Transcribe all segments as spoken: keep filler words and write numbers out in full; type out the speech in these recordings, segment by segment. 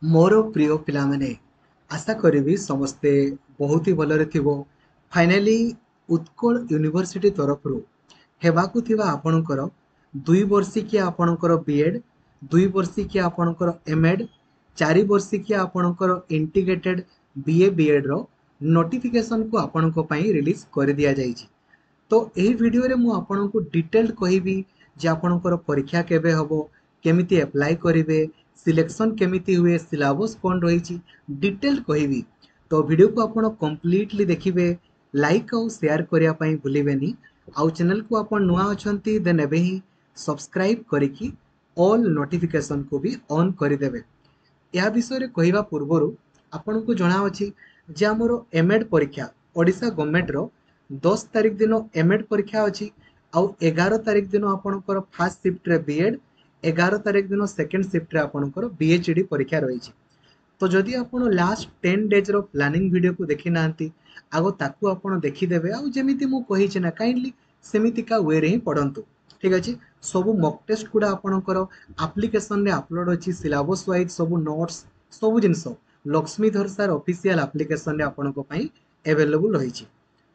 ମୋର ପ୍ରିୟ ପିଲାମାନେ ଆଶା କରିବି ସମସ୍ତେ ବହୁତ ହି ଭଲରେ ଥିବ ଫାଇନାଲି ଉତ୍କଳ ୟୁନିଭର୍ସିଟି ତରଫରୁ ହେବାକୁ ଥିବା ଆପଣଙ୍କର ଦୁଇ ବର୍ଷିକିଆ ଆପଣଙ୍କର ବି ଏଡ଼୍ ଦୁଇ ବର୍ଷିକିଆ ଆପଣଙ୍କର ଏମ୍ ଏଡ଼୍ ଚାରି ବର୍ଷିକିଆ ଆପଣଙ୍କର ଇଣ୍ଟିଗ୍ରେଟେଡ୍ ବି ଏ ବି ଏଡ଼୍ର ନୋଟିଫିକେସନ୍କୁ ଆପଣଙ୍କ ପାଇଁ ରିଲିଜ୍ କରିଦିଆଯାଇଛି ତ ଏହି ଭିଡ଼ିଓରେ ମୁଁ ଆପଣଙ୍କୁ ଡିଟେଲ୍ଡ କହିବି ଯେ ଆପଣଙ୍କର ପରୀକ୍ଷା କେବେ ହେବ କେମିତି ଆପ୍ଲାଏ କରିବେ ସିଲେକ୍ସନ୍ କେମିତି ହୁଏ ସିଲାବସ୍ କ'ଣ ରହିଛି ଡିଟେଲ୍ଡ କହିବି ତ ଭିଡ଼ିଓକୁ ଆପଣ କମ୍ପ୍ଲିଟଲି ଦେଖିବେ ଲାଇକ୍ ଆଉ ସେୟାର କରିବା ପାଇଁ ଭୁଲିବେନି ଆଉ ଚ୍ୟାନେଲକୁ ଆପଣ ନୂଆ ଅଛନ୍ତି ଦେନ୍ ଏବେ ହିଁ ସବସ୍କ୍ରାଇବ୍ କରିକି ଅଲ୍ ନୋଟିଫିକେସନ୍କୁ ବି ଅନ୍ କରିଦେବେ ଏହା ବିଷୟରେ କହିବା ପୂର୍ବରୁ ଆପଣଙ୍କୁ ଜଣାଅଛି ଯେ ଆମର ଏମ୍ ଏଡ଼୍ ପରୀକ୍ଷା ଓଡ଼ିଶା ଗଭର୍ଣ୍ଣମେଣ୍ଟର ଦଶ ତାରିଖ ଦିନ ଏମ୍ ଏଡ଼୍ ପରୀକ୍ଷା ଅଛି ଆଉ ଏଗାର ତାରିଖ ଦିନ ଆପଣଙ୍କର ଫାର୍ଷ୍ଟ ସିଫ୍ଟରେ ବି ଏଡ଼୍ ଏଗାର ତାରିଖ ଦିନ ସେକେଣ୍ଡ ସିଫ୍ଟରେ ଆପଣଙ୍କର ବି ଏଚ୍ ଡ଼ି ପରୀକ୍ଷା ରହିଛି ତ ଯଦି ଆପଣ ଲାଷ୍ଟ ଟେନ୍ ଡେଜ୍ର ପ୍ଲାନିଂ ଭିଡ଼ିଓକୁ ଦେଖିନାହାନ୍ତି ଆଗ ତାକୁ ଆପଣ ଦେଖିଦେବେ ଆଉ ଯେମିତି ମୁଁ କହିଛି ନା କାଇଣ୍ଡଲି ସେମିତିକା ୱେରେ ହିଁ ପଢ଼ନ୍ତୁ ଠିକ୍ ଅଛି ସବୁ ମକ୍ ଟେଷ୍ଟ ଗୁଡ଼ା ଆପଣଙ୍କର ଆପ୍ଲିକେସନରେ ଅପଲୋଡ଼ ଅଛି ସିଲାବସ୍ ୱାଇଜ୍ ସବୁ ନୋଟ୍ସ ସବୁ ଜିନିଷ ଲକ୍ଷ୍ମୀଧର ସାର୍ ଅଫିସିଆଲ ଆପ୍ଲିକେସନରେ ଆପଣଙ୍କ ପାଇଁ ଆଭେଲେବୁଲ୍ ରହିଛି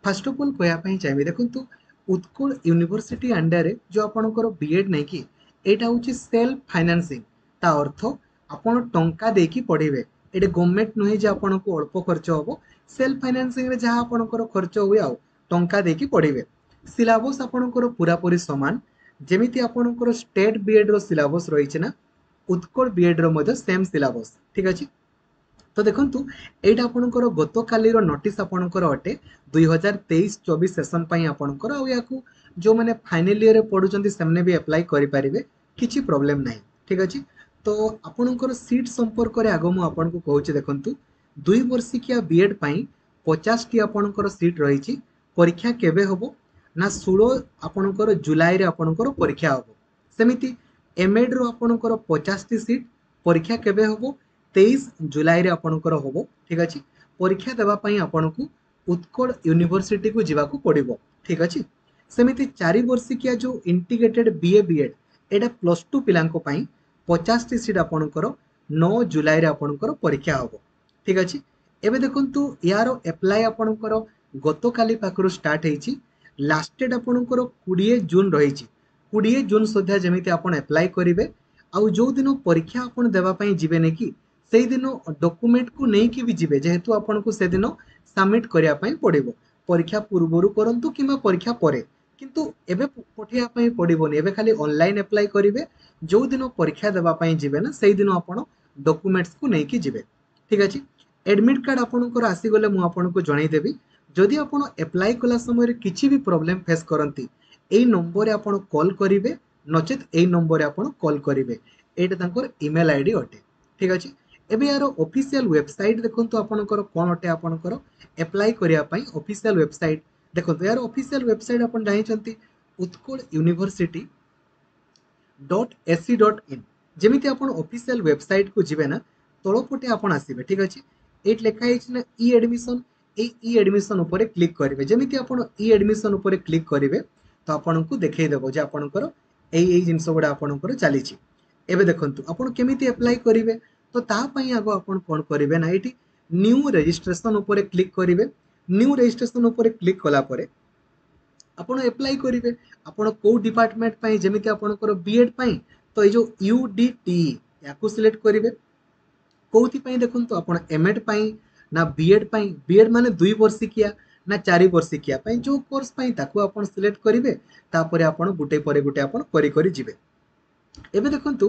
ଫାର୍ଷ୍ଟ ଅଫ୍ ଅଲ୍ କହିବା ପାଇଁ ଚାହିଁବି ଦେଖନ୍ତୁ ଉତ୍କଳ ୟୁନିଭର୍ସିଟି ଅଣ୍ଡରରେ ଯେଉଁ ଆପଣଙ୍କର ବି ଏଡ଼୍ ନାଇଁ ଏଇଟା ହେଉଛି ସେଲ୍ଫ ଫାଇନାନ୍ସିଂ ତା ଅର୍ଥ ଆପଣ ଟଙ୍କା ଦେଇକି ପଢ଼ିବେ ଏଇଟା ଗଭର୍ଣ୍ଣମେଣ୍ଟ ନୁହେଁ ଯେ ଆପଣଙ୍କୁ ଅଳ୍ପ ଖର୍ଚ୍ଚ ହେବ ସେଲ୍ଫ ଫାଇନାନ୍ସିଂରେ ଯାହା ଆପଣଙ୍କର ଖର୍ଚ୍ଚ ହୁଏ ଆଉ ଟଙ୍କା ଦେଇକି ପଢ଼ିବେ ସିଲାବସ୍ ଆପଣଙ୍କର ପୁରାପୁରି ସମାନ ଯେମିତି ଆପଣଙ୍କର ଷ୍ଟେଟ୍ ବି ଏଡ଼୍ର ସିଲାବସ୍ ରହିଛି ନା ଉତ୍କଳ ବି ଏଡ଼୍ର ମଧ୍ୟ ସେମ୍ ସିଲାବସ୍ ଠିକ୍ ଅଛି ତ ଦେଖନ୍ତୁ ଏଇଟା ଆପଣଙ୍କର ଗତକାଲିର ନୋଟିସ୍ ଆପଣଙ୍କର ଅଟେ ଦୁଇ ହଜାର ତେଇଶ ଚବିଶ ସେସନ୍ ପାଇଁ ଆପଣଙ୍କର ଆଉ ୟାକୁ ଯେଉଁମାନେ ଫାଇନାଲ୍ ଇୟର୍ରେ ପଢ଼ୁଛନ୍ତି ସେମାନେ ବି ଆପ୍ଲାଏ କରିପାରିବେ କିଛି ପ୍ରୋବ୍ଲେମ୍ ନାହିଁ ଠିକ୍ ଅଛି ତ ଆପଣଙ୍କର ସିଟ୍ ସମ୍ପର୍କରେ ଆଗ ମୁଁ ଆପଣଙ୍କୁ କହୁଛି ଦେଖନ୍ତୁ ଦୁଇ ବର୍ଷିକିଆ ବି ଏଡ଼୍ ପାଇଁ ପଚାଶଟି ଆପଣଙ୍କର ସିଟ୍ ରହିଛି ପରୀକ୍ଷା କେବେ ହେବ ନା ଷୋହଳ ଆପଣଙ୍କର ଜୁଲାଇରେ ଆପଣଙ୍କର ପରୀକ୍ଷା ହେବ ସେମିତି ଏମ୍ ଏଡ଼୍ର ଆପଣଙ୍କର ପଚାଶଟି ସିଟ୍ ପରୀକ୍ଷା କେବେ ହେବ ତେଇଶ ଜୁଲାଇରେ ଆପଣଙ୍କର ହେବ ଠିକ୍ ଅଛି ପରୀକ୍ଷା ଦେବା ପାଇଁ ଆପଣଙ୍କୁ ଉତ୍କଳ ୟୁନିଭର୍ସିଟିକୁ ଯିବାକୁ ପଡ଼ିବ ଠିକ୍ ଅଛି ସେମିତି ଚାରି ବର୍ଷିକିଆ ଯେଉଁ ଇଣ୍ଟିଗ୍ରେଟେଡ୍ ବି ଏ ବି ଏଡ଼୍ ଏଇଟା ପ୍ଲସ୍ ଟୁ ପିଲାଙ୍କ ପାଇଁ ପଚାଶଟି ସିଟ୍ ଆପଣଙ୍କର ନଅ ଜୁଲାଇରେ ଆପଣଙ୍କର ପରୀକ୍ଷା ହେବ ଠିକ୍ ଅଛି ଏବେ ଦେଖନ୍ତୁ ୟାର ଆପ୍ଲାଏ ଆପଣଙ୍କର ଗତକାଲି ପାଖରୁ ଷ୍ଟାର୍ଟ ହେଇଛି ଲାଷ୍ଟ ଡେଟ୍ ଆପଣଙ୍କର କୋଡ଼ିଏ ଜୁନ୍ ରହିଛି କୋଡ଼ିଏ ଜୁନ୍ ସୁଦ୍ଧା ଯେମିତି ଆପଣ ଆପ୍ଲାଏ କରିବେ ଆଉ ଯେଉଁଦିନ ପରୀକ୍ଷା ଆପଣ ଦେବା ପାଇଁ ଯିବେନି କି ସେଇଦିନ ଡକୁମେଣ୍ଟକୁ ନେଇକି ବି ଯିବେ ଯେହେତୁ ଆପଣଙ୍କୁ ସେଦିନ ସବମିଟ୍ କରିବା ପାଇଁ ପଡ଼ିବ ପରୀକ୍ଷା ପୂର୍ବରୁ କରନ୍ତୁ କିମ୍ବା ପରୀକ୍ଷା ପରେ କିନ୍ତୁ ଏବେ ପଠେଇବା ପାଇଁ ପଡ଼ିବନି ଏବେ ଖାଲି ଅନଲାଇନ୍ ଆପ୍ଲାଏ କରିବେ ଯେଉଁଦିନ ପରୀକ୍ଷା ଦେବା ପାଇଁ ଯିବେ ନା ସେଇଦିନ ଆପଣ ଡକୁମେଣ୍ଟସକୁ ନେଇକି ଯିବେ ଠିକ୍ ଅଛି ଆଡ଼ମିଟ୍ କାର୍ଡ଼ ଆପଣଙ୍କର ଆସିଗଲେ ମୁଁ ଆପଣଙ୍କୁ ଜଣାଇଦେବି ଯଦି ଆପଣ ଆପ୍ଲାଏ କଲା ସମୟରେ କିଛି ବି ପ୍ରୋବ୍ଲେମ୍ ଫେସ୍ କରନ୍ତି ଏଇ ନମ୍ବରରେ ଆପଣ କଲ୍ କରିବେ ନଚେତ୍ ଏଇ ନମ୍ବରରେ ଆପଣ କଲ୍ କରିବେ ଏଇଟା ତାଙ୍କର ଇମେଲ୍ I D ଅଟେ ଠିକ୍ ଅଛି ଏବେ ୟାର ଅଫିସିଆଲ ୱେବସାଇଟ୍ ଦେଖନ୍ତୁ ଆପଣଙ୍କର କ'ଣ ଅଟେ ଆପଣଙ୍କର ଆପ୍ଲାଏ କରିବା ପାଇଁ ଅଫିସିଆଲ ୱେବସାଇଟ୍ ଦେଖନ୍ତୁ ଏହାର ଅଫିସିଆଲ ୱେବସାଇଟ୍ ଆପଣ ଜାଣିଛନ୍ତି Utkal university dot AC dot in ଯେମିତି ଆପଣ ଅଫିସିଆଲ ୱେବସାଇଟ୍କୁ ଯିବେ ନା ତଳପଟେ ଆପଣ ଆସିବେ ଠିକ୍ ଅଛି ଏଇଠି ଲେଖା ହେଇଛି ନା ଇ ଆଡ଼ମିସନ୍ ଏଇ ଇ ଆଡ଼ମିସନ୍ ଉପରେ କ୍ଲିକ୍ କରିବେ ଯେମିତି ଆପଣ ଇ ଆଡ଼ମିସନ୍ ଉପରେ କ୍ଲିକ୍ କରିବେ ତ ଆପଣଙ୍କୁ ଦେଖେଇଦେବ ଯେ ଆପଣଙ୍କର ଏଇ ଏଇ ଜିନିଷ ଗୁଡ଼ା ଆପଣଙ୍କର ଚାଲିଛି ଏବେ ଦେଖନ୍ତୁ ଆପଣ କେମିତି ଆପ୍ଲାଏ କରିବେ ତ ତା ପାଇଁ ଆଗ ଆପଣ କ'ଣ କରିବେ ନା ଏଇଠି ନ୍ୟୁ ରେଜିଷ୍ଟ୍ରେସନ୍ ଉପରେ କ୍ଲିକ୍ କରିବେ ନ୍ୟୁ ରେଜିଷ୍ଟ୍ରେସନ୍ ଉପରେ କ୍ଲିକ୍ କଲା ପରେ ଆପଣ ଆପ୍ଲାଏ କରିବେ ଆପଣ କେଉଁ ଡିପାର୍ଟମେଣ୍ଟ ପାଇଁ ଯେମିତି ଆପଣଙ୍କର ବି ଏଡ଼୍ ପାଇଁ ତ ଏଇ ଯେଉଁ ୟୁ ଡି ଟି ୟାକୁ ସିଲେକ୍ଟ କରିବେ କେଉଁଥିପାଇଁ ଦେଖନ୍ତୁ ଆପଣ ଏମ୍ ଏଡ଼୍ ପାଇଁ ନା ବି ଏଡ଼୍ ପାଇଁ ବି ଏଡ଼୍ ମାନେ ଦୁଇ ବର୍ଷିକିଆ ନା ଚାରି ବର୍ଷିକିଆ ପାଇଁ ଯେଉଁ କୋର୍ସ ପାଇଁ ତାକୁ ଆପଣ ସିଲେକ୍ଟ କରିବେ ତାପରେ ଆପଣ ଗୋଟେ ପରେ ଗୋଟେ ଆପଣ କରି କରି ଯିବେ ଏବେ ଦେଖନ୍ତୁ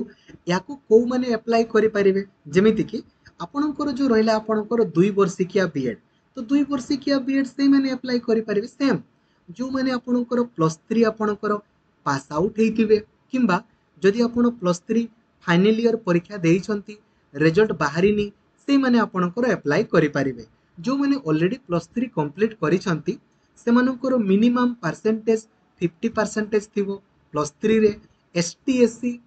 ୟାକୁ କେଉଁମାନେ ଆପ୍ଲାଏ କରିପାରିବେ ଯେମିତିକି ଆପଣଙ୍କର ଯେଉଁ ରହିଲା ଆପଣଙ୍କର ଦୁଇ ବର୍ଷିକିଆ ବି ଏଡ଼୍ ତ ଦୁଇ ବର୍ଷିକିଆ ବି ଏଡ଼୍ ସେଇମାନେ ଆପ୍ଲାଏ କରିପାରିବେ ସେମ୍ ଯେଉଁମାନେ ଆପଣଙ୍କର ପ୍ଲସ୍ ଥ୍ରୀ ଆପଣଙ୍କର ପାସ୍ ଆଉଟ୍ ହେଇଥିବେ କିମ୍ବା ଯଦି ଆପଣ ପ୍ଲସ୍ ଥ୍ରୀ ଫାଇନାଲ୍ ଇୟର୍ ପରୀକ୍ଷା ଦେଇଛନ୍ତି ରେଜଲ୍ଟ ବାହାରିନି ସେଇମାନେ ଆପଣଙ୍କର ଆପ୍ଲାଏ କରିପାରିବେ ଯେଉଁମାନେ ଅଲରେଡ଼ି ପ୍ଲସ୍ ଥ୍ରୀ କମ୍ପ୍ଲିଟ୍ କରିଛନ୍ତି ସେମାନଙ୍କର ମିନିମମ୍ ପରସେଣ୍ଟେଜ୍ ଫିଫ୍ଟି ପରସେଣ୍ଟେଜ୍ ଥିବ plus ଥ୍ରୀରେ S T S C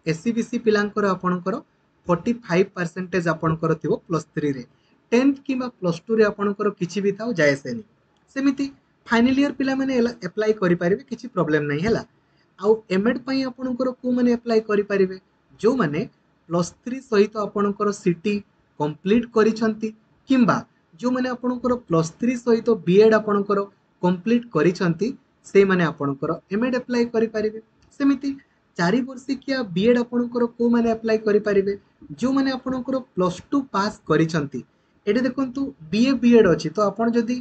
S E B C ପିଲାଙ୍କର ଆପଣଙ୍କର ଫର୍ଟି ଫାଇଭ୍ ପରସେଣ୍ଟେଜ୍ ଆପଣଙ୍କର ଥିବ ପ୍ଲସ୍ ଥ୍ରୀରେ ଟେନ୍ଥ କିମ୍ବା ପ୍ଲସ୍ ଟୁରେ ଆପଣଙ୍କର କିଛି ବି ଥାଉ ଯାଏ ଆସେନି ସେମିତି ଫାଇନାଲ୍ ଇୟର୍ ପିଲାମାନେ ଆପ୍ଲାଏ କରିପାରିବେ କିଛି ପ୍ରୋବ୍ଲେମ୍ ନାହିଁ ହେଲା ଆଉ ଏମ୍ ଏଡ଼୍ ପାଇଁ ଆପଣଙ୍କର କେଉଁମାନେ ଆପ୍ଲାଏ କରିପାରିବେ ଯେଉଁମାନେ ପ୍ଲସ୍ ଥ୍ରୀ ସହିତ ଆପଣଙ୍କର ସିଟି କମ୍ପ୍ଲିଟ୍ କରିଛନ୍ତି କିମ୍ବା ଯେଉଁମାନେ ଆପଣଙ୍କର ପ୍ଲସ୍ ଥ୍ରୀ ସହିତ ବି ଏଡ଼୍ ଆପଣଙ୍କର କମ୍ପ୍ଲିଟ୍ କରିଛନ୍ତି ସେଇମାନେ ଆପଣଙ୍କର ଏମ୍ ଏଡ଼୍ ଆପ୍ଲାଏ କରିପାରିବେ। ସେମିତି ଚାରି ବର୍ଷିକିଆ ବି ଏଡ଼୍ ଆପଣଙ୍କର କେଉଁମାନେ ଆପ୍ଲାଏ କରିପାରିବେ, ଯେଉଁମାନେ ଆପଣଙ୍କର ପ୍ଲସ୍ ଟୁ ପାସ୍ କରିଛନ୍ତି। ଏଠି ଦେଖନ୍ତୁ ବି ଏ ବି ଏଡ଼୍ ଅଛି, ତ ଆପଣ ଯଦି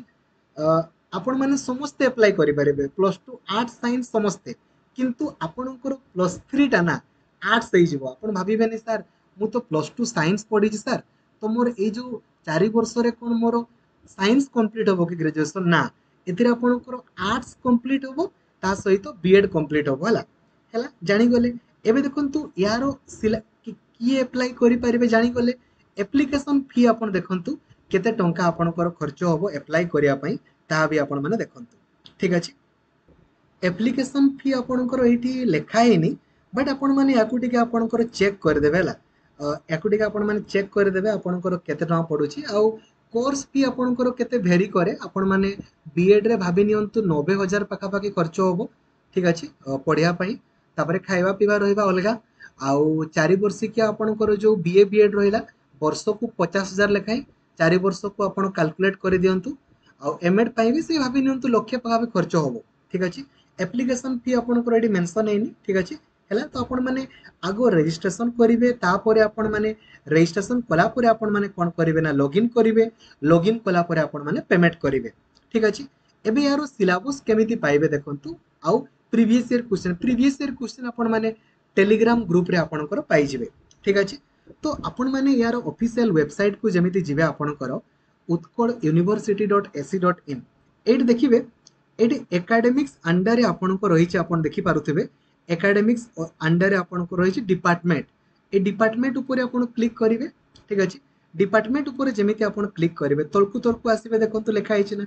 ଆପଣମାନେ ସମସ୍ତେ ଆପ୍ଲାଏ କରିପାରିବେ, ପ୍ଲସ୍ ଟୁ ଆର୍ଟ୍ସ ସାଇନ୍ସ ସମସ୍ତେ, କିନ୍ତୁ ଆପଣଙ୍କର ପ୍ଲସ୍ ଥ୍ରୀଟା ନା ଆର୍ଟ୍ସ ହେଇଯିବ। ଆପଣ ଭାବିବେନି ସାର୍ ମୁଁ ତ ପ୍ଲସ୍ ଟୁ ସାଇନ୍ସ ପଢ଼ିଛି ସାର୍, ତ ମୋର ଏଇ ଯେଉଁ ଚାରି ବର୍ଷରେ କ'ଣ ମୋର ସାଇନ୍ସ କମ୍ପ୍ଲିଟ୍ ହେବ କି ଗ୍ରାଜୁଏସନ୍? ନା, ଏଥିରେ ଆପଣଙ୍କର ଆର୍ଟ୍ସ କମ୍ପ୍ଲିଟ୍ ହେବ, ତା ସହିତ ବି ଏଡ଼୍ କମ୍ପ୍ଲିଟ୍ ହେବ। ହେଲା ହେଲା ଜାଣିଗଲେ। ଏବେ ଦେଖନ୍ତୁ ୟାର ସିଲା କିଏ ଆପ୍ଲାଏ କରିପାରିବେ ଜାଣିଗଲେ। ଆପ୍ଲିକେସନ୍ ଫି ଆପଣ ଦେଖନ୍ତୁ କେତେ ଟଙ୍କା ଆପଣଙ୍କର ଖର୍ଚ୍ଚ ହେବ ଆପ୍ଲାଏ କରିବା ପାଇଁ, ତାହା ବି ଆପଣମାନେ ଦେଖନ୍ତୁ। ଠିକ୍ ଅଛି, ଆପ୍ଲିକେସନ୍ ଫି ଆପଣଙ୍କର ଏଇଠି ଲେଖା ହେଇନି, ବଟ୍ ଆପଣମାନେ ୟାକୁ ଟିକେ ଆପଣଙ୍କର ଚେକ୍ କରିଦେବେ। ହେଲା, ୟାକୁ ଟିକେ ଆପଣମାନେ ଚେକ୍ କରିଦେବେ ଆପଣଙ୍କର କେତେ ଟଙ୍କା ପଡ଼ୁଛି। ଆଉ କୋର୍ସ ଫି ଆପଣଙ୍କର କେତେ ଭେରି କରେ, ଆପଣମାନେ ବି ଏଡ଼୍ରେ ଭାବି ନିଅନ୍ତୁ ନବେ ହଜାର ପାଖାପାଖି ଖର୍ଚ୍ଚ ହେବ। ଠିକ୍ ଅଛି, ପଢ଼ିବା ପାଇଁ, ତାପରେ ଖାଇବା ପିଇବା ରହିବା ଅଲଗା। ଆଉ ଚାରି ବର୍ଷିକିଆ ଆପଣଙ୍କର ଯେଉଁ ବି ଏ ବି ଏଡ଼୍ ରହିଲା ବର୍ଷକୁ ପଚାଶ ହଜାର ଲେଖାଏଁ, ଚାରି ବର୍ଷକୁ ଆପଣ କାଲକୁଲେଟ୍ କରିଦିଅନ୍ତୁ। ଆଉ ଏମ୍ ଏଡ଼୍ ପାଇଁ ବି ସେ ଭାବି ନିଅନ୍ତୁ ଲକ୍ଷେ ପାଖାପାଖି ଖର୍ଚ୍ଚ ହେବ। ଠିକ୍ ଅଛି, ଆପ୍ଲିକେସନ୍ ଫି ଆପଣଙ୍କର ଏଇଠି ମେନସନ୍ ହେଇନି। ଠିକ୍ ଅଛି, ହେଲା ତ ଆପଣମାନେ ଆଗ ରେଜିଷ୍ଟ୍ରେସନ୍ କରିବେ, ତାପରେ ଆପଣମାନେ ରେଜିଷ୍ଟ୍ରେସନ୍ କଲା ପରେ ଆପଣମାନେ କ'ଣ କରିବେ ନା ଲଗ୍ଇନ୍ କରିବେ, ଲଗ୍ଇନ୍ କଲା ପରେ ଆପଣମାନେ ପେମେଣ୍ଟ କରିବେ। ଠିକ୍ ଅଛି, ଏବେ ୟାର ସିଲାବସ୍ କେମିତି ପାଇବେ ଦେଖନ୍ତୁ। ଆଉ previous year question, previous year question ଆପଣମାନେ ଟେଲିଗ୍ରାମ ଗ୍ରୁପ୍ରେ ଆପଣଙ୍କର ପାଇଯିବେ। ଠିକ୍ ଅଛି, ତ ଆପଣମାନେ ୟାର ଅଫିସିଆଲ ୱେବସାଇଟ୍କୁ ଯେମିତି ଯିବେ ଆପଣଙ୍କର Utkal university dot AC dot in, ଏଇଠି ଦେଖିବେ ଏଇଠି ଏକାଡେମିକ୍ସ ଅଣ୍ଡରରେ ଆପଣଙ୍କ ରହିଛି, ଆପଣ ଦେଖିପାରୁଥିବେ ଏକାଡେମିକ୍ସ ଅଣ୍ଡରରେ ଆପଣଙ୍କର ରହିଛି ଡିପାର୍ଟମେଣ୍ଟ। ଏଇ ଡିପାର୍ଟମେଣ୍ଟ ଉପରେ ଆପଣ କ୍ଲିକ୍ କରିବେ। ଠିକ୍ ଅଛି, ଡିପାର୍ଟମେଣ୍ଟ ଉପରେ ଯେମିତି ଆପଣ କ୍ଲିକ୍ କରିବେ ତଳକୁ ତଳକୁ ଆସିବେ, ଦେଖନ୍ତୁ ଲେଖା ହେଇଛି ନା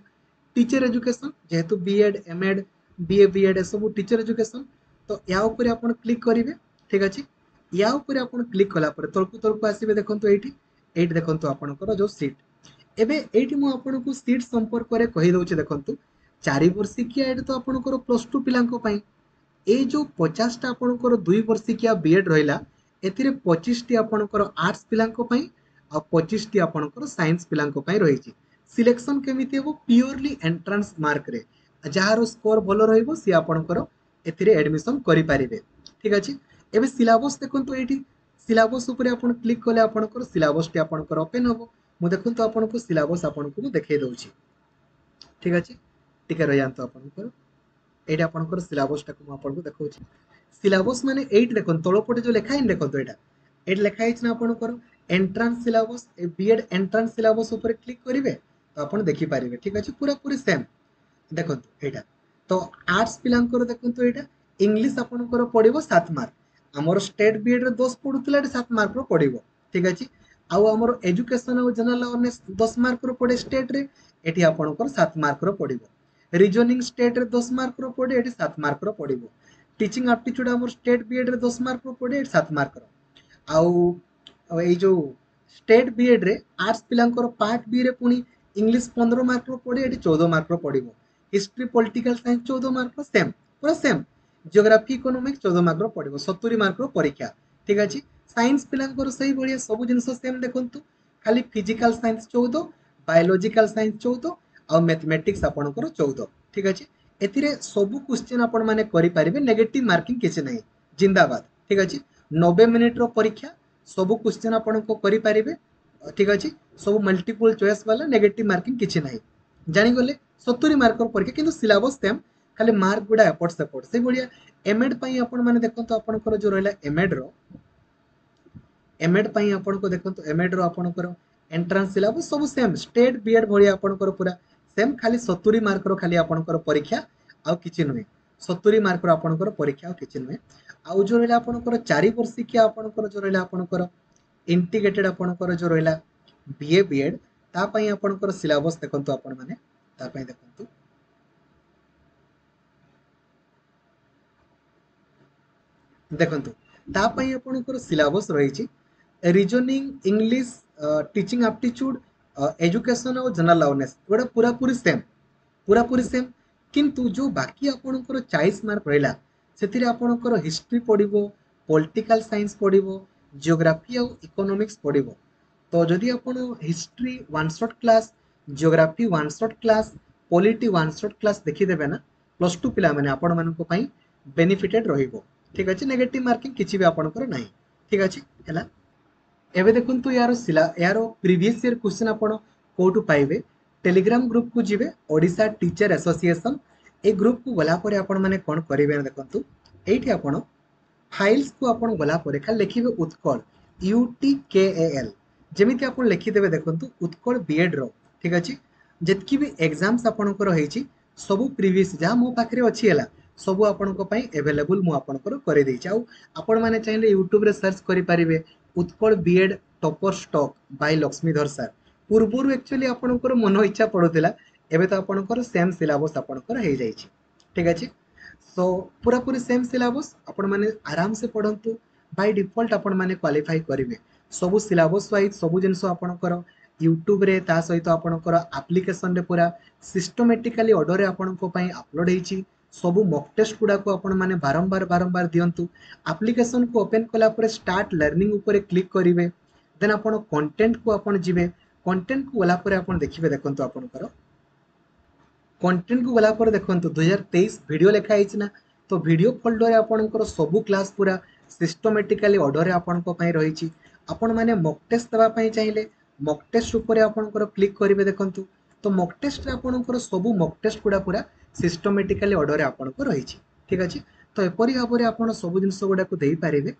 ଟିଚର ଏଜୁକେସନ୍, ଯେହେତୁ B Ed M Ed B A B Ed ଏସବୁ ଟିଚର ଏଜୁକେସନ୍, ତ ୟା ଉପରେ ଆପଣ କ୍ଲିକ୍ କରିବେ। ଠିକ୍ ଅଛି, ୟା ଉପରେ ଆପଣ କ୍ଲିକ୍ କଲା ପରେ ତଳକୁ ତଳକୁ ଆସିବେ, ଦେଖନ୍ତୁ ଏଇଠି ଏଇଠି ଦେଖନ୍ତୁ ଆପଣଙ୍କର ଯେଉଁ ସିଟ୍। ଏବେ ଏଇଠି ମୁଁ ଆପଣଙ୍କୁ ସିଟ୍ ସମ୍ପର୍କରେ କହିଦେଉଛି। ଦେଖନ୍ତୁ ଚାରି ବର୍ଷିକିଆ ଏଇଟା ତ ଆପଣଙ୍କର ପ୍ଲସ୍ ଟୁ ପିଲାଙ୍କ ପାଇଁ, ଏଇ ଯେଉଁ ପଚାଶଟା ଆପଣଙ୍କର ଦୁଇ ବର୍ଷିକିଆ ବି ଏଡ଼୍ ରହିଲା ଏଥିରେ ପଚିଶଟି ଆପଣଙ୍କର ଆର୍ଟ୍ସ ପିଲାଙ୍କ ପାଇଁ ଆଉ ପଚିଶଟି ଆପଣଙ୍କର ସାଇନ୍ସ ପିଲାଙ୍କ ପାଇଁ ରହିଛି। ସିଲେକ୍ସନ୍ କେମିତି ହେବ, ପିଓରଲି ଏଣ୍ଟ୍ରାନ୍ସ ମାର୍କରେ, ଯାହାର ସ୍କୋର ଭଲ ରହିବ ସିଏ ଆପଣଙ୍କର ଏଥିରେ ଆଡ଼ମିସନ୍ କରିପାରିବେ। ଠିକ୍ ଅଛି, ଏବେ ସିଲାବସ୍ ଦେଖନ୍ତୁ ଏଇଠି ସିଲାବସ୍ ଉପରେ ଆପଣ କ୍ଲିକ୍ କଲେ ଆପଣଙ୍କର ସିଲାବସ୍ଟି ଆପଣଙ୍କର ଓପେନ୍ ହେବ। ମୁଁ ଦେଖନ୍ତୁ ଆପଣଙ୍କୁ ସିଲାବସ୍ ଆପଣଙ୍କୁ ମୁଁ ଦେଖେଇ ଦେଉଛି। ଠିକ୍ ଅଛି, ଟିକେ ରହିଯାଆନ୍ତୁ ଆପଣଙ୍କର ଏଇଟା ଆପଣଙ୍କର ସିଲାବସ୍ଟାକୁ ମୁଁ ଆପଣଙ୍କୁ ଦେଖାଉଛି। ସିଲାବସ୍ ମାନେ ଏଇଠି ଦେଖନ୍ତୁ ତଳପଟେ ଯେଉଁ ଲେଖା ହେଇନି, ଦେଖନ୍ତୁ ଏଇଟା ଏଇଠି ଲେଖା ହେଇଛି ନା ଆପଣଙ୍କର entrance syllabus, B Ed entrance syllabus ଉପରେ କ୍ଲିକ୍ କରିବେ ତ ଆପଣ ଦେଖିପାରିବେ। ଠିକ୍ ଅଛି, ପୁରାପୁରି ସେମ୍ ଦେଖନ୍ତୁ ଏଇଟା ତ ଆର୍ଟ୍ସ ପିଲାଙ୍କର ଦେଖନ୍ତୁ ଏଇଟା ଇଂଲିଶ ଆପଣଙ୍କର ପଡ଼ିବ ସାତ ମାର୍କ, ଆମର ଷ୍ଟେଟ୍ ବି ଏଡ଼୍ରେ ଦଶ ପଡ଼ୁଥିଲା, ଏଠି ସାତ ମାର୍କର ପଡ଼ିବ। ଠିକ୍ ଅଛି, ଆଉ ଆମର ଏଜୁକେସନ୍ ଆଉ ଜେନେରାଲ ଆୱାରନେସ୍ ଦଶ ମାର୍କର ପଡ଼େ ଷ୍ଟେଟ୍ରେ, ଏଠି ଆପଣଙ୍କର ସାତ ମାର୍କର ପଡ଼ିବ। ରିଜନିଂ ଷ୍ଟେଟ୍ରେ ଦଶ ମାର୍କର ପଡ଼େ, ଏଠି ସାତ ମାର୍କର ପଡ଼ିବ। ଟିଚିଂ ଆପ୍ଟିଚ୍ୟୁଡ୍ ଆମର ଷ୍ଟେଟ୍ ବି ଏଡ଼୍ରେ ଦଶ ମାର୍କର ପଡ଼େ, ଏଠି ସାତ ମାର୍କର। ଆଉ ଏଇ ଯେଉଁ ଷ୍ଟେଟ୍ ବି ଏଡ଼୍ରେ ଆର୍ଟ୍ସ ପିଲାଙ୍କର ପାର୍ଟ ବିରେ ପୁଣି ଇଂଲିଶ ପନ୍ଦର ମାର୍କର ପଡ଼େ, ଏଠି ଚଉଦ ମାର୍କର ପଡ଼ିବ। ହିଷ୍ଟ୍ରି ପଲିଟିକାଲ ସାଇନ୍ସ ଚଉଦ ମାର୍କର ସେମ୍, ପୁରା ସେମ୍। ଜିଓଗ୍ରାଫି ଇକୋନୋମିକ୍ସ ଚଉଦ ମାର୍କର ପଡ଼ିବ, ସତୁରି ମାର୍କର ପରୀକ୍ଷା। ଠିକ୍ ଅଛି, ସାଇନ୍ସ ପିଲାଙ୍କର ସେଇଭଳିଆ ସବୁ ଜିନିଷ ସେମ୍ ଦେଖନ୍ତୁ, ଖାଲି ଫିଜିକାଲ ସାଇନ୍ସ ଚଉଦ, ବାୟୋଲୋଜିକାଲ ସାଇନ୍ସ ଚଉଦ, ଆଉ ମ୍ୟାଥମେଟିକ୍ସ ଆପଣଙ୍କର ଚଉଦ। ଠିକ୍ ଅଛି, ଏଥିରେ ସବୁ କ୍ୱେଶ୍ଚନ୍ ଆପଣମାନେ କରିପାରିବେ, ନେଗେଟିଭ୍ ମାର୍କିଂ କିଛି ନାହିଁ, ଜିନ୍ଦାବାଦ। ଠିକ୍ ଅଛି, ନବେ ମିନିଟ୍ର ପରୀକ୍ଷା, ସବୁ କ୍ୱେଶ୍ଚନ୍ ଆପଣଙ୍କ କରିପାରିବେ। ଠିକ୍ ଅଛି, ସବୁ ମଲ୍ଟିପୁଲ୍ ଚଏସ୍ ବାଲା, ନେଗେଟିଭ୍ ମାର୍କିଂ କିଛି ନାହିଁ। ଜାଣିଗଲେ, ସତୁରି ମାର୍କର ପରୀକ୍ଷା, କିନ୍ତୁ ସିଲାବସ୍ ସେମ୍, ଖାଲି ମାର୍କ ଗୁଡ଼ା ଏପଟ ସେପଟ। ସେଇଭଳିଆ ଏମ୍ ଏଡ଼୍ ପାଇଁ ଆପଣମାନେ ଦେଖନ୍ତୁ ଆପଣଙ୍କର ଯେଉଁ ରହିଲା ଏମ୍ ଏଡ଼୍ର, ଏମ୍ ଏଡ଼୍ ପାଇଁ ଆପଣଙ୍କୁ ଦେଖନ୍ତୁ ଏମ୍ ଏଡ଼୍ର ଆପଣଙ୍କର ଏଣ୍ଟ୍ରାନ୍ସ ସିଲାବସ୍ ସବୁ ସେମ୍, ଷ୍ଟେଟ୍ ବି ଏଡ଼୍ ଭଳିଆ ଆପଣଙ୍କର ପୁରା ସେମ୍, ଖାଲି ସତୁରି ମାର୍କର ଖାଲି ଆପଣଙ୍କର ପରୀକ୍ଷା, ଆଉ କିଛି ନୁହେଁ। ସତୁରି ମାର୍କର ଆପଣଙ୍କର ପରୀକ୍ଷା, ଆଉ କିଛି ନୁହେଁ। ଆଉ ଯେଉଁ ରହିଲା ଆପଣଙ୍କର ଚାରି ବର୍ଷିକିଆ ଆପଣଙ୍କର ଯେଉଁ ରହିଲା ଆପଣଙ୍କର ଇଣ୍ଟିଗ୍ରେଟେଡ୍ ଆପଣଙ୍କର ଯେଉଁ ରହିଲା ବି ଏ ବି ଏଡ଼୍, ତା ପାଇଁ ଆପଣଙ୍କର ସିଲାବସ୍ ଦେଖନ୍ତୁ ଆପଣମାନେ, ତା ପାଇଁ ଦେଖନ୍ତୁ ଦେଖନ୍ତୁ ତା ପାଇଁ ଆପଣଙ୍କର ସିଲାବସ୍ ରହିଛି reasoning, English, teaching aptitude, education ଆଉ ଜେନେରାଲ ଆୱାରନେସ୍, ଏଗୁଡ଼ା ପୁରାପୁରି ସେମ୍, ପୁରାପୁରି ସେମ୍। କିନ୍ତୁ ଯେଉଁ ବାକି ଆପଣଙ୍କର ଚାଳିଶ ମାର୍କ ରହିଲା ସେଥିରେ ଆପଣଙ୍କର ହିଷ୍ଟ୍ରି ପଡ଼ିବ, ପଲିଟିକାଲ ସାଇନ୍ସ ପଡ଼ିବ, ଜିଓଗ୍ରାଫି ଆଉ ଇକୋନୋମିକ୍ସ ପଡ଼ିବ। ତ ଯଦି ଆପଣ history one shot class, geography one shot class, polity one shot class ଦେଖିଦେବେ ନା, ପ୍ଲସ୍ ଟୁ ପିଲାମାନେ, ଆପଣମାନଙ୍କ ପାଇଁ ବେନିଫିଟେଡ୍ ରହିବ। ଠିକ୍ ଅଛି? ନେଗେଟିଭ୍ ମାର୍କିଂ କିଛି ବି ଆପଣଙ୍କର ନାହିଁ। ଠିକ୍ ଅଛି? ହେଲା। ଏବେ ଦେଖନ୍ତୁ, ୟାର ସିଲା ଏହାର ପ୍ରିଭିୟସ୍ ଇୟର୍ କ୍ୱେଶ୍ଚନ୍ ଆପଣ କେଉଁଠୁ ପାଇବେ? ଟେଲିଗ୍ରାମ ଗ୍ରୁପକୁ ଯିବେ, ଓଡ଼ିଶା ଟିଚର ଆସୋସିଏସନ୍। ଏ ଗ୍ରୁପକୁ ଗଲା ପରେ ଆପଣମାନେ କ'ଣ କରିବେ ନା, ଦେଖନ୍ତୁ, ଏଇଠି ଆପଣ ଫାଇଲ୍ସକୁ ଆପଣ ଗଲା ପରେ ଖାଲି ଲେଖିବେ Utkal, U T K A L. ଯେମିତି ଆପଣ ଲେଖିଦେବେ, ଦେଖନ୍ତୁ, ଉତ୍କଳ ବିଏଡ୍ର, ଠିକ୍ ଅଛି, ଯେତିକି ବି ଏକ୍ଜାମ୍ସ ଆପଣଙ୍କର ହେଇଛି, ସବୁ ପ୍ରିଭିୟସ୍ ଯାହା ମୋ ପାଖରେ ଅଛି, ହେଲା, ସବୁ ଆପଣଙ୍କ ପାଇଁ ଆଭେଲେବୁଲ୍ ମୁଁ ଆପଣଙ୍କର କରିଦେଇଛି। ଆଉ ଆପଣମାନେ ଚାହିଁଲେ ୟୁଟ୍ୟୁବରେ ସର୍ଚ୍ଚ କରିପାରିବେ Utkal B Ed topper stock by Lakshmidhar sir. ପୂର୍ବରୁ ଆକ୍ଚୁଆଲି ଆପଣଙ୍କର ମନ ଇଚ୍ଛା ପଡ଼ୁଥିଲା, ଏବେ ତ ଆପଣଙ୍କର ସେମ୍ ସିଲାବସ୍ ଆପଣଙ୍କର ହେଇଯାଇଛି। ଠିକ୍ ଅଛି? ସୋ ପୁରାପୁରି ସେମ୍ ସିଲାବସ୍, ଆପଣମାନେ ଆରାମସେ ପଢ଼ନ୍ତୁ, ବାଇ ଡିଫଲ୍ଟ ଆପଣମାନେ କ୍ୱାଲିଫାଇ କରିବେ। ସବୁ ସିଲାବସ୍ ୱାଇଜ୍ ସବୁ ଜିନିଷ ଆପଣଙ୍କର ୟୁଟ୍ୟୁବରେ, ତା ସହିତ ଆପଣଙ୍କର ଆପ୍ଲିକେସନରେ ପୁରା ସିଷ୍ଟମେଟିକାଲି ଅର୍ଡ଼ରରେ ଆପଣଙ୍କ ପାଇଁ ଅପଲୋଡ଼ ହେଇଛି। ସବୁ ମକ୍ ଟେଷ୍ଟ ଗୁଡ଼ାକୁ ଆପଣମାନେ ବାରମ୍ବାର ବାରମ୍ବାର ଦିଅନ୍ତୁ। ଆପ୍ଲିକେସନକୁ ଓପେନ୍ କଲା ପରେ ଷ୍ଟାର୍ଟ ଲର୍ଣ୍ଣିଂ ଉପରେ କ୍ଲିକ୍ କରିବେ, ଦେନ୍ ଆପଣ କଣ୍ଟେଣ୍ଟକୁ ଆପଣ ଯିବେ। କଣ୍ଟେଣ୍ଟକୁ ଗଲା ପରେ ଆପଣ ଦେଖିବେ, ଦେଖନ୍ତୁ, ଆପଣଙ୍କର କଣ୍ଟେଣ୍ଟକୁ ଗଲା ପରେ ଦେଖନ୍ତୁ ଦୁଇହଜାର ତେଇଶ ଭିଡ଼ିଓ ଲେଖା ହେଇଛି ନା? ତ ଭିଡ଼ିଓ ଫୋଲ୍ଡରରେ ଆପଣଙ୍କର ସବୁ କ୍ଲାସ୍ ପୁରା ସିଷ୍ଟମେଟିକାଲି ଅର୍ଡ଼ରରେ ଆପଣଙ୍କ ପାଇଁ ରହିଛି। ଆପଣମାନେ ମକ୍ ଟେଷ୍ଟ ଦେବା ପାଇଁ ଚାହିଁଲେ ମକ୍ ଟେଷ୍ଟ ଉପରେ ଆପଣଙ୍କର କ୍ଲିକ୍ କରିବେ। ଦେଖନ୍ତୁ, ତ ମକ୍ ଟେଷ୍ଟରେ ଆପଣଙ୍କର ସବୁ ମକ୍ ଟେଷ୍ଟ ଗୁଡ଼ା ପୁରା ସିଷ୍ଟମେଟିକାଲି ଅର୍ଡ଼ରରେ ଆପଣଙ୍କର ରହିଛି। ଠିକ୍ ଅଛି? ତ ଏପରି ଭାବରେ ଆପଣ ସବୁ ଜିନିଷ ଗୁଡ଼ାକୁ ଦେଇପାରିବେ।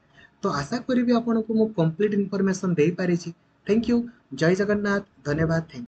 ତ ଆଶା କରିବି ଆପଣଙ୍କୁ ମୁଁ କମ୍ପ୍ଲିଟ୍ ଇନଫର୍ମେସନ୍ ଦେଇପାରିଛି। Thank you, Jay Jagannath, ଧନ୍ୟବାଦ, thank.